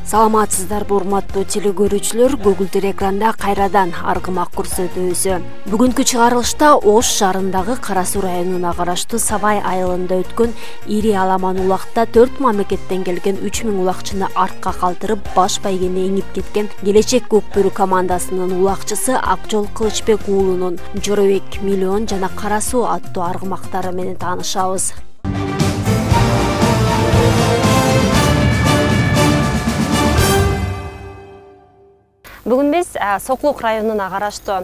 Саламатсыздарбы урматтуу телекөрүүчүлөр, көгүлдүр экранда кайрадан Аргымак көрсөтүүсү. Бүгүнкү чыгарылышта Ош шаарындагы Кара Суу районуна караштуу Сабай айылында өткөн ири аламан улакта 4 мамлекеттен келген 3000 улакчыны артка калтырып, баш байгени эңип кеткен Келечек Көкбөрү командасынын улакчысы Акжол Кылычбек уулунун Жоробек Миллион жана Кара Суу аттуу аргымактары менен таанышабыз. Бүгүн биз Соклук районуна караштуу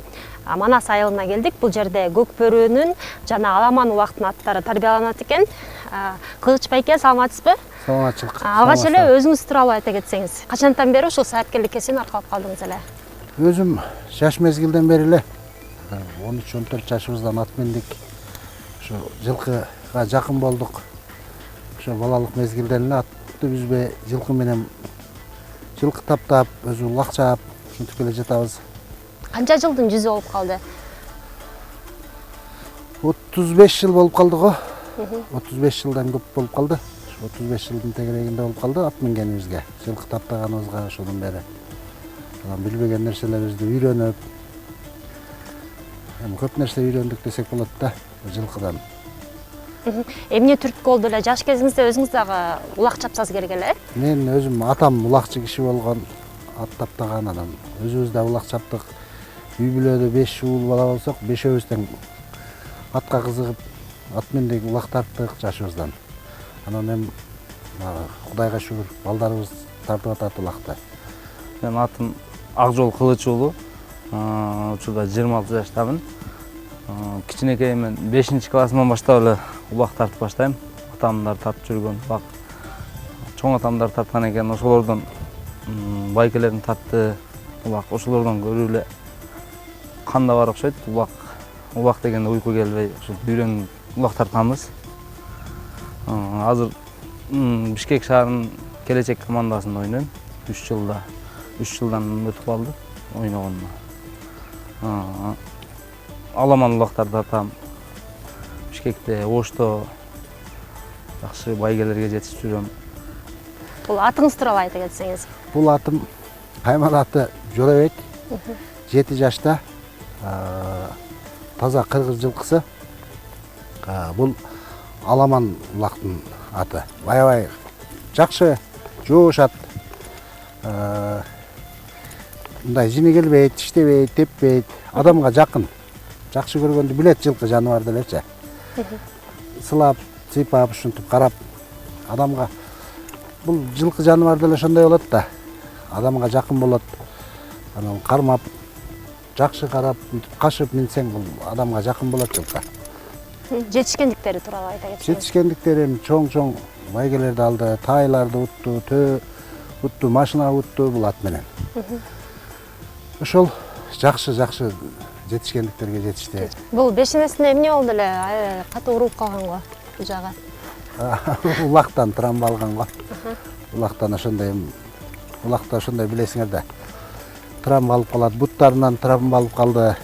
Манас айылына келдик. Бул жерде Көкбөрүнүн жана Аламан улактын аттары тарбияланат экен. Кылыч байке, саламатсызбы? Саламатчылык. Алгач эле өзүңүз тууралуу айта кетсеңиз. Качантан бери ушул саапкерликке сен аркалап калдыңыз эле? Өзүм жаш мезгилден бери эле 13-14 жашыбыздан ат мендик. Ошо жылкыга жакын болдук. Ошо балалык мезгилден эле атты үзбөй жылкы менен жылкы таптап, өзү улакчап ушинтип келе жатабыз. Канча жылдын жүзү болуп калды? 35 жыл болуп калды го. 35 жылдан көп болуп калды. 35 жылдын тегерегинде болуп калды ат мингенибизге, жылкы таптаганыбызга ошодон бери. Билбеген нерселерибизди үйрөнүп, көп нерсе үйрөндүк десек болот да, жылкыдан. Эмне түрткү болду эле? Жаш кезиңизде өзүңүз дагы улак чапсаңыз керек эле? Мен өзүм атам улакчы киши болгон, ат таптаган анан өзүбүз да улак чаптык. Үй бүлөдө 5 уул бала болсок, 5өөбүз тең атка кызыгып, ат мендик улак тарттык жашыбыздан. Анан эми Кудайга шүгүр, балдарыбыз тартып атат улакты. Мен атым Акжол Кылыч уулу. Учурда 26 жаштамын. Кичинекеймен 5-классыман баштап эле улак тартып баштайм. Атамдар тартып жүргөн улак. Чоң атамдар тарткан экен, ошолордон байкелерин тартты улак. Ошолордон көрүп эле канда бар окшойт. Улак дегенде уйку келбей, ошо үйрөнүп улак тартканбыз. Азыр Бишкек шаарынын Келечек командасында ойнойм. 3 жылдан өтүп калды ойногонума. Аламан улактарды тартам. Бишкекте, Ошто жакшы байгелерге жетишип жүрөм. Бул атыңыз тууралуу айта кетсеңиз. Бул атым Кайман аты Жоробек. 7 жашта. Таза кыргыз жылкысы. Бул Аламан улактын аты. Аябай жакшы жоошат. Мындай жини келбейт, иштебейт, теппейт, адамга жакын. Жакшы көргөндү билет жылкы жаныбар делечи. Сылап, сыйпап, ушинтип карап адамга бул жылкы жаныбар деле ошондой болот да. Адамга жакын болот. Анан кармап, жакшы карап, кашып минсең бул адамга жакын болот жылкы. Жетишкендиктери тууралуу айта кетсеңиз. Жетишкендиктерин чоң байгелерди алды, тайларды утту, утту, машина утту бул ат менен. Ошол жакшы жетишкендиктерге жетишти. Бул бешенесине эмне болду эле? Катуу уруп калган го бул жагы. Улактан травма алган го. Улактан ошондой улакта ошондой билесиңер да. Травма алып калат, буттарынан травма алып калды.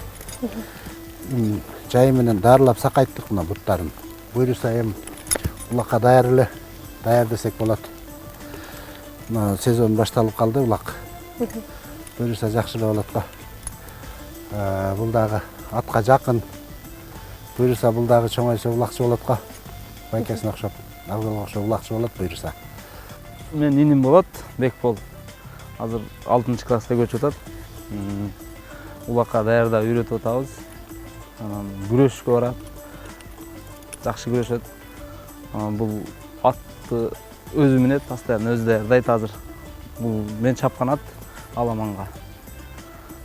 Жай менен дарылап сакайттык мына буттарын. Буйруса эми улакка даяр десек болот. Мына сезон башталып калды улак. Буйруса жакшы эле болот го. Бул дагы атка жакын. Буйруса бул дагы чоңойсо улакчы болот го. Байкесине окшоп, Акжолго окшоп улакчы болот буйруса. Мен иним болот, Бекбол. Азыр 6-класска көчүп атат. Улакка даярдап үйрөтүп атабыз. Анан күрөшкө барат. Жакшы күрөшөт. Бул атты өзү минет, постоянно өзү даярдайт азыр. Бул мен чапкан ат Аламанга.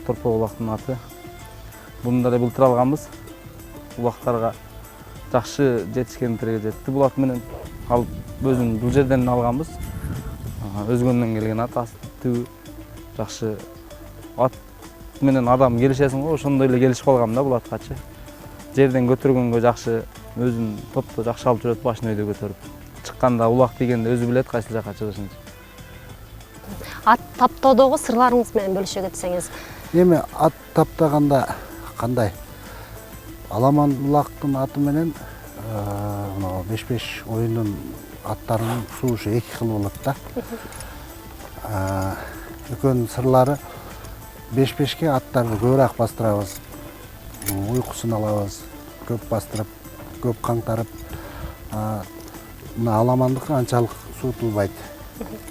Торпо улактын аты. Буну да былтыр алганбыз. Улактарга жакшы жетишкендиктерге жетти. Бул ат менен алып өзүм бул жерден алганбыз. Өзгөндөн келген ат, астыбы жакшы ат менен адам келишесиң го, ошондой эле келишип калгам да бул аткачы. Жерден көтөргөнгө жакшы, өзүн топто жакшы алып жүрөт, башын өйдө көтөрүп. Чыкканда улак дегенде өзү билет кайсы жака чыгышын. Ат таптоодогу сырларыңыз менен бөлүшө кетсеңиз. Эми ат таптаганда кандай? Аламан улактын аты менен 5-5 оюндун аттарынын суушу 2 кыл болот да. Экөөнүн сырлары беш-бешке аттарды көбүрөөк бастырабыз. Уйкусун алабыз, көп бастырып, көп каңтарып. Мына аламандыкы анчалык суутулбайт.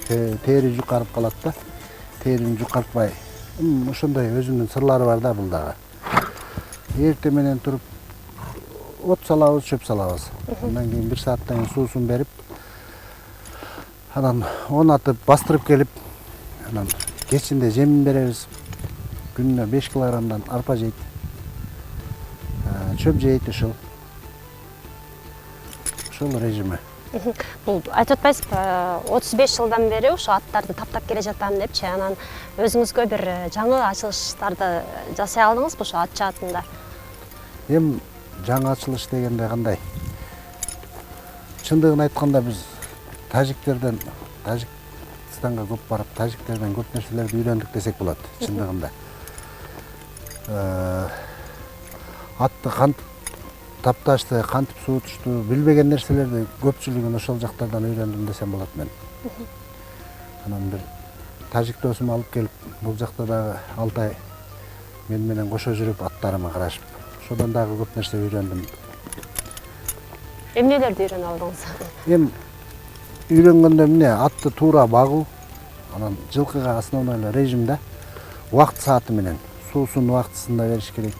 Тери жукарып калат да. Терини жукартпай. Ошондой өзүнүн сырлары бар да бул дагы. Эрте менен туруп от салабыз, чөп салабыз. Андан кийин 1 сааттан кийин суусун берип, анан онатып бастырып келип, анан кечинде жемин беребиз. Күнүнө 5 килограммдан арпа жейт. Чөп жейт ошол режими. Бул айтып атпайсызбы, 35 жылдан бери ошо аттарды таптап келе жатам депчи, анан өзүңүзгө бир жаңы ачылыштарды жасай алдыңызбы ошо ат жаатында? Эми жаңы ачылыш дегенде кандай? Чындыгын айтканда биз тажиктерден, Тажикстанга көп барып, тажиктерден көп нерселерди үйрөндүк десек болот, чындыгында. Атты кантип тапташты, кантип суутушту, билбеген нерселерди көпчүлүгүн ошол жактардан үйрөндүм десем болот мен. Анан бир тажик досум алып келип, бул жакта дагы 6 ай мен менен кошо жүрүп, аттарыма карашып, ошодон дагы көп нерсе үйрөндүм. Эмнелерди үйрөнүп алдыңыз? Эми үйрөнгөндө эмне, атты туура багуу, анан жылкыга основной режим да, убакыт сааты менен суусун убактысында бериш керек.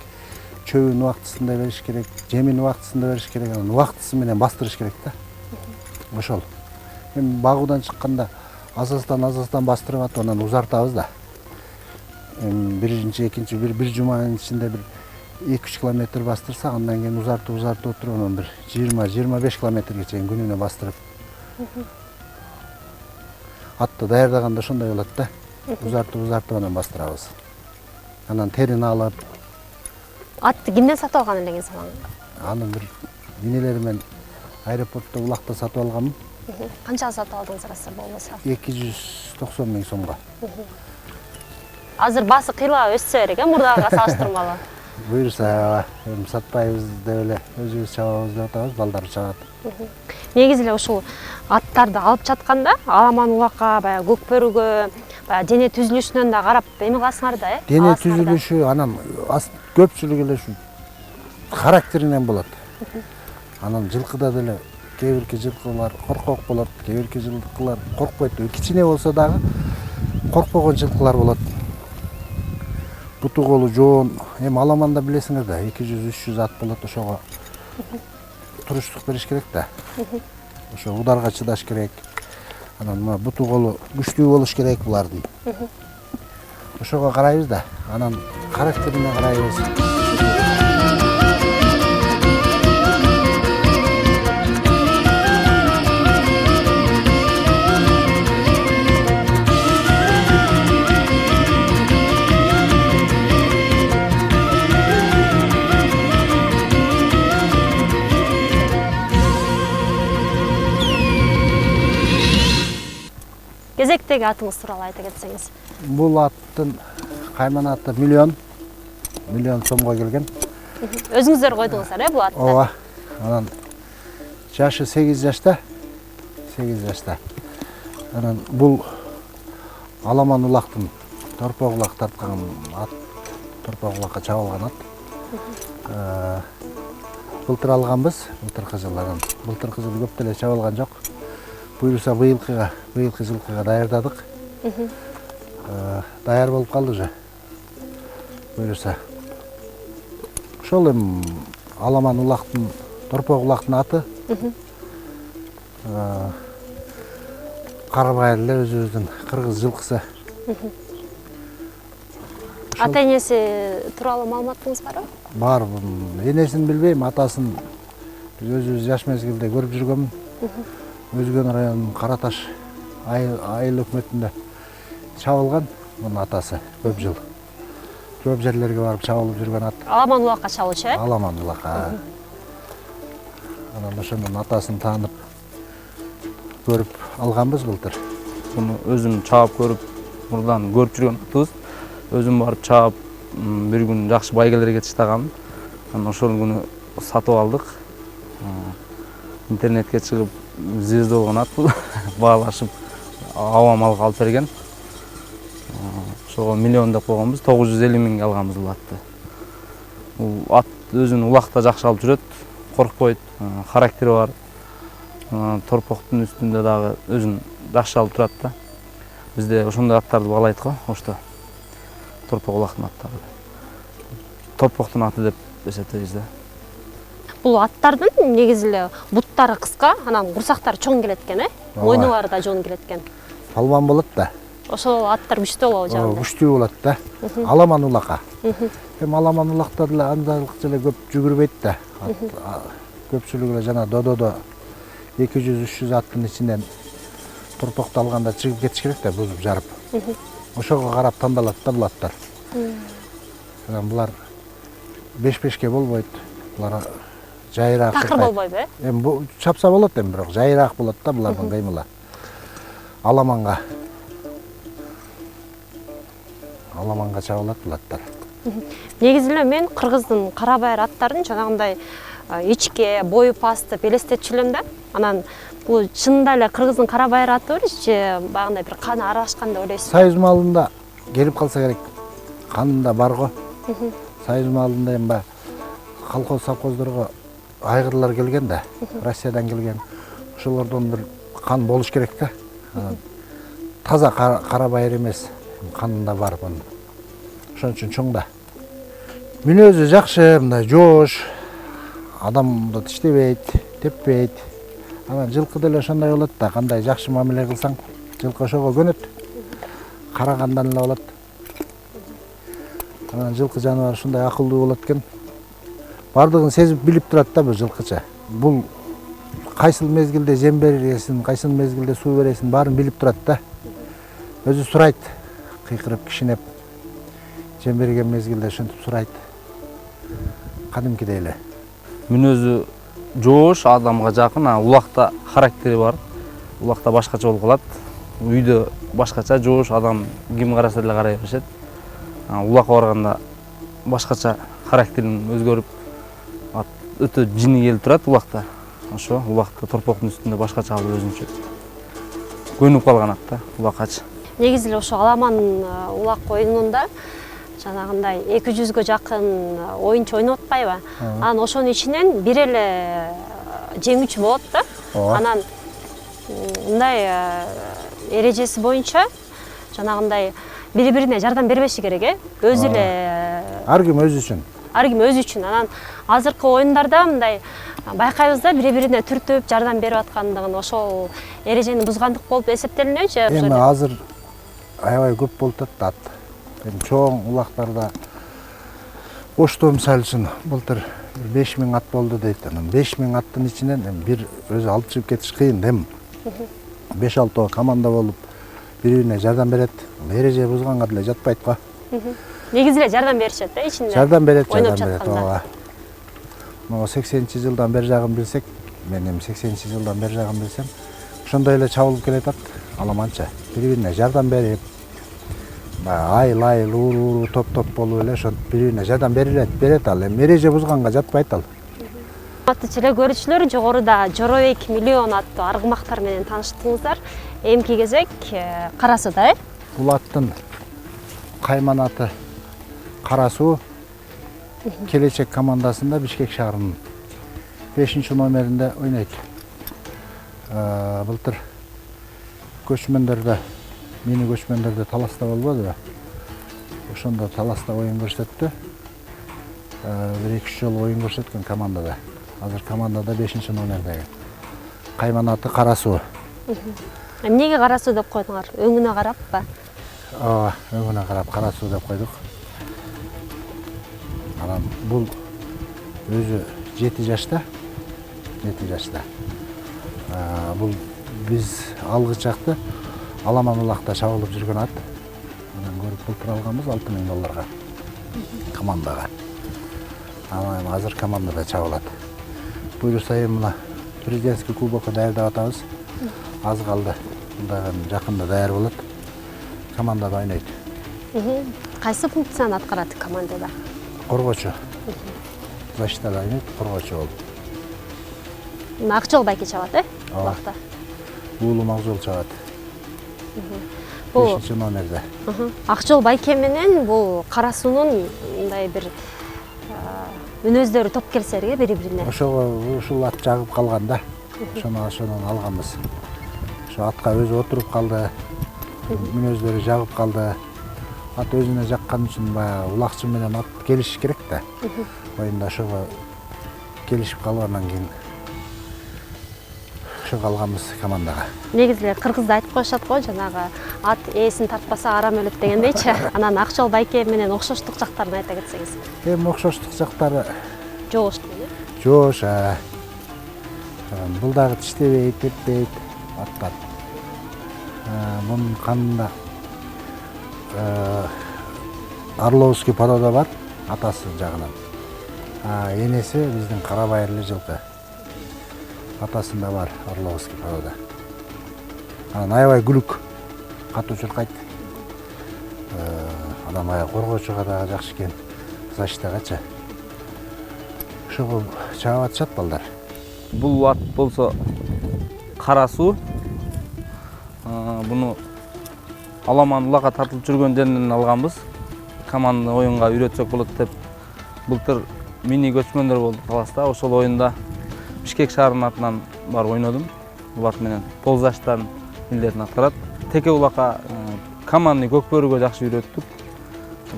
Чөбүн убактысында бериш керек, жемин убактысында бериш керек, анан убактысы менен бастырыш керек да. Ошол. Эми багуудан чыкканда азастан бастырып атып, анан узартабыз да. Эми биринчи, экинчи, бир жуманын ичинде бир 2-3 километр бастырсак, андан кийин узартып отуруп, анан бир 20-25 километрге чейин күнүнө бастырып. Атты даярдаганда ошондой болот да. Узартып анан бастырабыз. Анан терин алып. Атты кимден сатып алган элеңиз анан? Аны бир инелеримен аэропортто Улакта сатып алганмын. Канчага сатып алдыңыз арасы болбосо? 290 000 сомго. Азыр баасы кыйла өссө керек, мурдага салыштырмалуу. Буюрса, эми сатпайбыз деп эле өзүбүз чабабыз деп атабыз, балдар чабат. Негизи эле ушул аттарды алып жатканда аламан улакка, баягы көк бөрүгө, баягы дене түзүлүшүнөн да карап эме кыласыңар да, Дене түзүлүшү анан көпчүлүк эле ушу характеринен болот. Анан жылкыда деле кээ бирки жылкылар коркок болот, кээ бирки жылкылар коркпойт. Кичине болсо дагы коркпогон жылкылар болот. Буту колу жоон, эми аламанда билесиңер да, 200-300 ат болот, ошого туруштук бериш керек да. Ошо ударга чыдаш керек. Анан мына буту колу күчтүү болуш керек булардын. Ошого карайбыз да, анан характерине карайбыз. Кезектеги атыңыз тууралуу айта кетсеңиз. Бул аттын кайман аты миллион сомго келген. Өзүңүздөр койдуңуздар, бул атты? Ооба. Анан жашы 8 жашта. 8 жашта. Анан бул Аламан Улактын торпок улак тарткан ат, торпок улакка чабылган ат. Былтыр алганбыз, былтыркы жылы. Былтыркы жылы көп деле чабылган жок. Буюрса быйылкы жылкыга даярдадык. Даяр болуп калды уже. Буюрса. Ошол эми Аламан Улактын торпок улактын аты. Карабай эле өзүбүздүн кыргыз жылкысы. Ата энеси тууралуу маалыматыңыз барбы? Бар. Энесин билбейм, атасын өзүбүз жаш мезгилде көрүп жүргөмүн. Өзгөн районунун Караташ айыл өкмөтүндө чабылган мунун атасы көп жыл. Көп жерлерге барып чабылып жүргөн ат. Аламан Улакка чабылчу, э? Аламан Улакка. Анан ошонун атасын таанып көрүп алганбыз былтыр. Буну өзүм чаап көрүп, мурдан көрүп жүргөн атыбыз. Өзүм барып чаап, бир күн жакшы байгелерге чыштаганмын. Анан ошол күнү сатып алдык. Интернетке чыгып, звезда болгон ат бул. Баалашып, аба малга алып берген. ошого миллион деп койгонбуз, 950 миңге алганбыз бул атты. Бул ат өзүн улакта жакшы алып жүрөт, коркпойт, характери бар. Торпоктун үстүндө дагы өзүн жакшы алып турат да. Бизде ошондой аттарды баалайт го, ошто. Торпок улактын аттары. Торпоктун аты деп эсептейбиз да. Бул аттардын негизи эле буттары кыска, анан курсактары чоң келет экен, мойну бары да жон келет экен. Палбан болот да. Ошол аттар күчтүү болобу жагында? Күчтүү болот да. Аламан улака. Эми аламан улактар деле андайлыкча эле көп жүгүрбөйт да. Көпчүлүгү эле жана дододо 200-300 аттын ичинен торпокту алганда чыгып кетиш керек да, бузуп жарып. Ошого карап тандалат да бул аттар. Анан булар беш-бешке болбойт. Булар жайыраак. Такыр болбойбу, Эми бу чапса болот эми, бирок жайыраак болот да булардын кыймылы. Аламанга чабылат бул аттар. Негизи эле мен кыргыздын кара байыр аттарын жанагындай ичке, бою пастып элестетчү элем да. Анан бул чынында эле кыргыздын кара байыр аты же багындай бир каны аралашкан деп ойлойсузбу? Союз маалында келип калса керек. Канында бар го. Союз маалында эми колхоз совхоздорго айгырлар келген да, Россиядан келген. Ошолордон бир кан болуш керек да. Таза кара байыр эмес, канында бар бунун. Ошон үчүн чоң да. Мүнөзү жакшы, мындай жоош, адамды тиштебейт, теппейт. Анан жылкы деле ошондой болот да, кандай жакшы мамиле кылсаң, жылкы ошого көнөт. Карагандан эле болот. Анан жылкы жаныбар ушундай акылдуу болот экен. Бардыгын сезип билип турат да бул жылкыча. Бул кайсыл мезгилде жем бересин, кайсыл мезгилде суу бересин, баарын билип турат да. Өзү сурайт, кыйкырып, кишинеп. Жем берген мезгилде ошентип сурайт. Кадимкидей эле. Мүнөзү жоош, адамга жакын, улакта характери бар. Улакта башкача болуп калат. Үйдө башкача, жоош, адам ким караса деле карай беришет. Улакка барганда башкача характерин өзгөрүп, өтө жини келип турат улакта. Ошо улакта торпоктун үстүндө башкача алып өзүнчө көнүп калган ат да, улакачы. Негизи эле ошо аламан улак оюнунда жанагындай 200гө жакын оюнчу ойноп атпайбы? Анан ошонун ичинен бир эле жеңүүчү болот да. Анан мындай эрежеси боюнча жанагындай бири-бирине жардам бербеши керек, өзү эле ар ким өзү үчүн. Ар ким өзү үчүн. Анан азыркы оюндарда мындай байкайбыз да, бири-бирине түртүп жардам берип аткандыгын, ошол эрежени бузгандык болуп эсептелинеби? Эми азыр аябай көп болуп атат ат. Эми чоң улактарда Ошто мисалы үчүн былтыр 5000 ат болду дейт. Анан 5000 аттын ичинен бир өзү алып чыгып кетиш кыйын. Эми 5-6 команда болуп бири-бирине жардам берет. Эреже бузганга деле жатпайт го. Негизи эле жардам беришет да ичинде. Жардам берет. Ооба. Могу 80-жылдан бери жагын билсек, мен эми 80-жылдан бери жагын билсем, ошондой эле чабылып келет ат аламанча. Бири-бирине жардам берип, айыл уру топ болуп эле ошо бири-бирине жардам берет ал. Эми эреже бузганга жатпайт ал. Урматтуу телекөрүүчүлөр, жогоруда Жоробек Миллион аттуу аргымактар менен тааныштыңыздар. Эмки кезек Кара Сууда, Бул аттын кайман аты Кара Суу. Келечек командасында Бишкек шаарынын 5-номеринде ойнойт. Былтыр көчмөндөрдө, мени көчмөндөрдө таласта болбодубу? Ошондо таласта оюн көрсөттү. 1-2 жолу оюн көрсөткөн командада. Азыр командада 5-номердеги. Кайман аты Кара Суу. Эмнеге Кара Суу деп койдуңар? Өңүнө караппы? Ооба, өңүнө карап Кара Суу деп койдук. Анан бул өзү 7 жашта. Бул биз алгы чакты Аламан улакта чабылып жүргөн ат. Анан көрүп былтыр алганбыз $6000 командага. Анан азыр командада чабылат. Буюрса эми мына президентский кубокко даярдап атабыз. Аз калды. Жакында даяр болот. Командада ойнойт. Кайсы функцияны аткарат командада? Коргоочу. Защитада ойнойт, коргоочу болуп. Акжол байке чабат, улакта? Уулум Акжол чабат. Бул 5 номерде. Акчол байке менен бул Кара суунун мындай бир мүнөздөрү топ келсерге бири-бирине. Ошого ушул ат жагып калганда, ошонун алганбыз. Ошо атка өзү отуруп калды, мүнөздөрү жагып калды. Ат өзүнө жаккан үчүн баягы улакчы менен ат келишиш керек да. Оюнда ошого келишип калгандан кийин ошого алганбыз командага. Негизи кыргызда айтып коюшат го, жанагы ат ээсин тартпаса арам өлөт дегендейчи. Анан Акчол байке менен окшоштук жактарын айта кетсеңиз. Окшоштук жактары Жоош дейли. жоош. Бул дагы тиштебейт, теппейт аттар. Мунун канында Орловский порода бар, атасы жагынан. Энеси биздин кара байырлы жылкы. Атасында бар Орловский порода. Анан аябай күлүк, катуу чуркайт. Анан аяк коргоочуга дагы жакшы экен, защитагачы. Ошого чаап атышат балдар. Бул ат болсо Кара суу. Буну Аламан улакка тартылып жүргөн жеринен алганбыз. Команда оюнга үйрөтсөк болот деп былтыр мини көчмөндөр болду Таласта. Ошол оюнда Бишкек шаарынын атынан барып ойнодум. Бул ат менен 9 жаштан милдетин аткарат. Теке улакка командный көк бөрүгө жакшы үйрөттүк.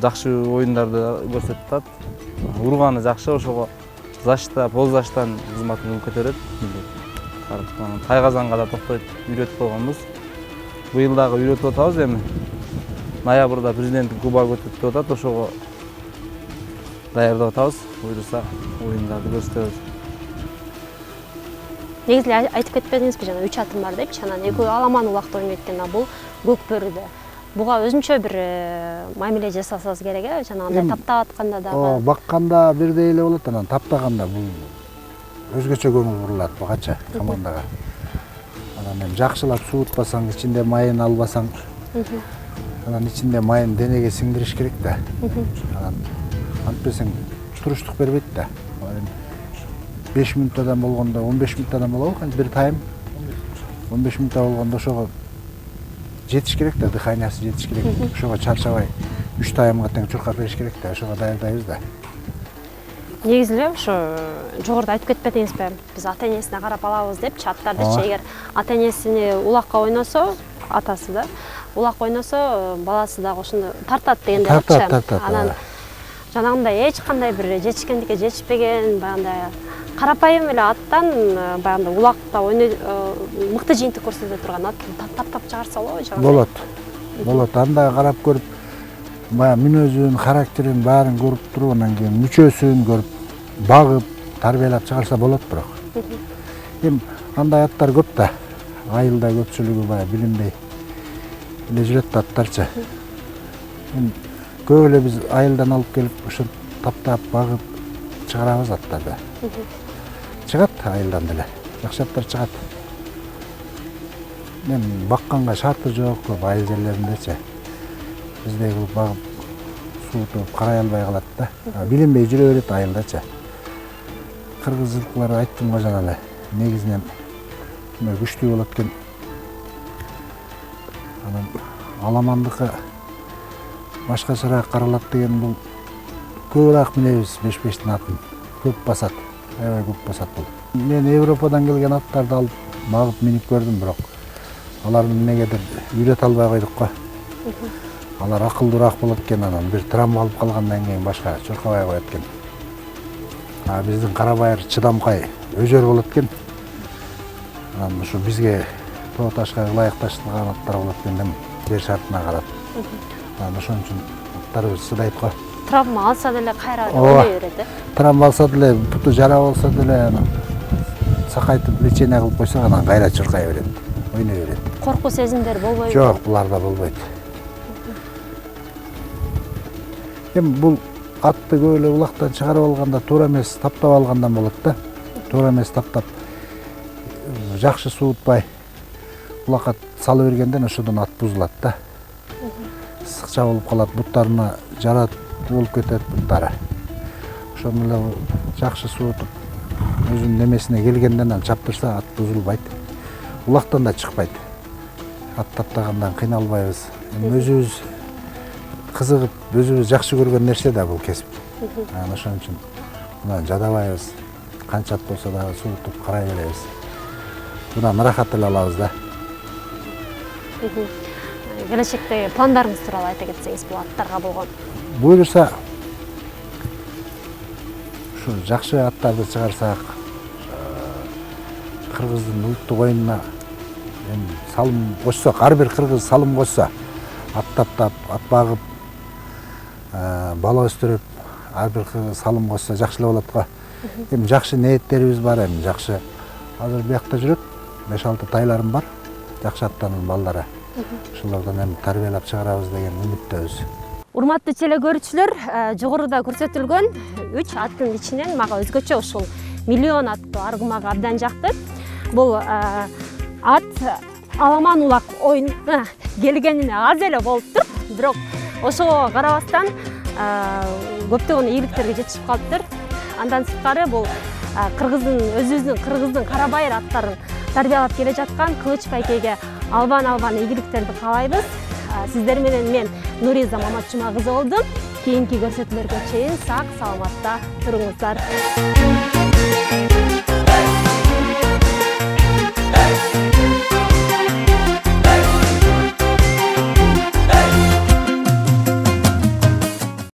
Жакшы оюндарды көрсөтүп атат. Урганы жакшы, ошого защита 9 жаштан кызматын көтөрөт. Тайгазанга да токтой үйрөтүп койгонбуз. Быйыл дагы үйрөтүп атабыз эми. Ноябрда президенттик кубок өтөт деп атат, ошого даярдап атабыз. Буйруса оюндарды көрсөтөбүз. Негизи айтып кетпедиңизби, жана 3 атым бар депчи, анан экөө Аламан улакта ойнойт экен, а бул көк бөрүдө. Буга өзүнчө бир мамиле жасасаңыз керек, жанагындай таптап атканда дагы. Бакканда бирдей эле болот, анан таптаганда бул өзгөчө көңүл бурулат бугача командага. Анан жакшылап суутпасаң, ичинде майын албасаң, анан ичинде майын денеге сиңдириш керек да. Анан антпесең туруштук бербейт да. 5 мүнөттөн болгондо 15 мүнөттөн болобу, бир тайм. 15 мүнөттө болгондо ошого жетиш керек да, дыханиясы жетиш керек. Ошого чарчабай 3 таймга тең чуркап бериш керек да, ошого даярдайбыз да. Негизи эле ошо жогоруда айтып кетпедиңизби, биз ата-энесине карап алабыз депчи, аттардычы эгер ата-энесини улакка ойносо, атасы да, улакка ойносо, баласы дагы ошондо тартат дегендей айтчы. Анан жанагындай эч кандай бир жетишкендикке жетишпеген, баягындай карапайым эле аттан баягындай улакта ойной мыкты жыйынтык көрсөтө турган ат таптап чыгарса болобу же? Болот. Анда карап көрүп, баягы мүнөзүн, характерин баарын көрүп туруп, анан кийин мүчөсүн көрүп, багып, тарбиялап чыгарса болот бирок. Эми андай аттар көп да. Айылда көпчүлүгү баягы билинбей эле жүрөт аттарчы. Эми көп эле биз айылдан алып келип, ошо таптап, багып чыгарабыз аттарды. Чыгат айылдан деле. Жакшы аттар чыгат. Мен бакканга шарты жок, көп айыл жерлериндечи. Биздей кылып багып, суутуп, карай албай калат да. Билинбей жүрө берет айылдачы. Кыргыз жылкылары айттым го жана эле. Негизинен күчтүү болот экен. Анан Аламандыкы башкачараак каралат деген бул көбүрөөк минебиз 5-5тин атын. Көп басат. Аябай көп басат бул. Мен Европадан келген аттарды алып багып минип көрдүм, бирок аларды эмнегедир үйрөтө албай койдук го. Алар акылдуураак болот экен, анан бир травма алып калгандан кийин башка чуркабай коет экен. Биздин кара байыр чыдамкай өзөр болот экен. Анан ушу бизге тоо ташка ылайыкташтырылган аттар болот экен дем, жер шартына карап. Анан ошон үчүн аттарыбыз чыдайт го. Травма алса деле кайра ойной берет, Травма алса деле, буту жара болсо деле, сакайтып лечение кылып койсок, анан кайра чуркай берет, ойной берет. Коркуу сезимдер болбойбу? Жок, буларда болбойт. Эми бул атты көп эле улактан чыгарып алганда туура эмес таптап алгандан болот да. Туура эмес таптап, жакшы суутпай улакка салып бергенден ошодон ат бузулат да. Сыкча болуп калат, буттарына жара болуп кетет буттары. Ошону эле жакшы суутуп, өзүнүн немесине келгенден чаптырса ат бузулбайт. Улактан да чыкпайт. ат таптагандан кыйналбайбыз. Эми өзүбүз кызыгып, өзүбүз жакшы көргөн нерсе да бул кесип. Ошон үчүн мына жадабайбыз. Канча ат болсо дагы суутуп карай беребиз. Мындан ырахат эле алабыз да. Келечектеги пландарыңыз тууралуу айта кетсеңиз, бул аттарга болгон. Буюрса, ушу жакшы аттарды чыгарсак, кыргыздын улуттук оюнуна салым кошсок, ар бир кыргыз салым кошсо, ат таптап, ат багып, бала өстүрүп, ар бир кыргыз салым кошсо жакшы эле болот го. Эми жакшы ниеттерибиз бар, эми жакшы. Азыр биякта жүрөт, 5-6 тайларым бар, жакшы аттанын балдары. Ошолордон эми тарбиялап чыгарабыз деген үмүттөбүз. Урматтуу теле көрүүчүлөр, жогоруда көрсөтүлгөн 3 аттын ичинен мага өзгөчө ушул миллион аттуу аргымак абдан жакты. Бул ат аламан улак оюнуна келгенине аз эле болуптур, бирок ошого карабастан көптөгөн ийгиликтерге жетишип калыптыр. Андан сырткары бул өзүбүздүн кыргыздын карабайыр аттарын тарбиялап келе жаткан Кылыч байкеге албан ийгиликтерди каалайбыз. Сиздер менен мен Нуриза Маматжума кызы болдум. Кийинки көрсөтүүлөргө чейин сак саламатта туруңуздар.